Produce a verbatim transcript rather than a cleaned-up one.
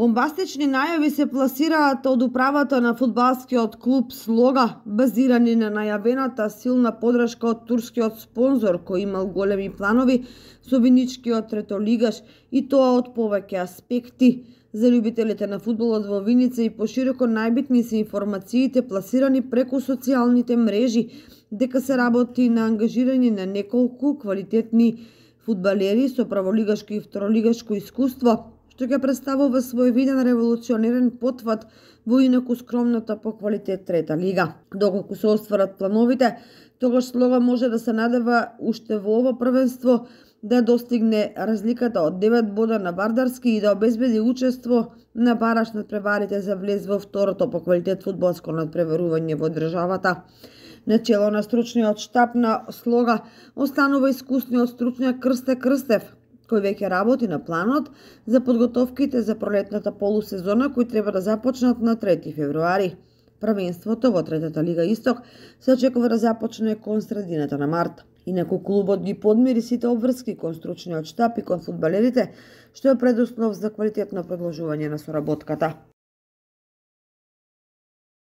Бомбастични најави се пласираат од управата на фудбалскиот клуб Слога, базирани на најавената силна подршка од турскиот спонзор кој имал големи планови со виничкиот третолигаш, и тоа од повеќе аспекти. За љубителите на фудбалот во Виница и пошироко најбитни се информациите пласирани преку социјалните мрежи дека се работи на ангажирање на неколку квалитетни фудбалери со праволигашко и второлигашко искуство, што ќе представува своевиден револуционерен потват во инаку скромната по квалитет трета лига. Доколку се остварат плановите, тогаш Слога може да се надева уште во ова првенство да достигне разликата од девет бода на Вардарски и да обезбеди учество на бараш надпреварите за влез во второто по квалитет фудбалско надпреварување во државата. Начело на стручниот штаб на Слога останува искусниот стручњак Крсте Крстев, кој веќе работи на планот за подготовките за пролетната полусезона кои треба да започнат на трети февруари. Првенството во третата лига Исток се очекува да започне кон средината на март. Инаку клубот ги подмири сите обврски кон стручниот штаб и кон фудбалерите, што е предуслов за квалитетно продолжување на соработката.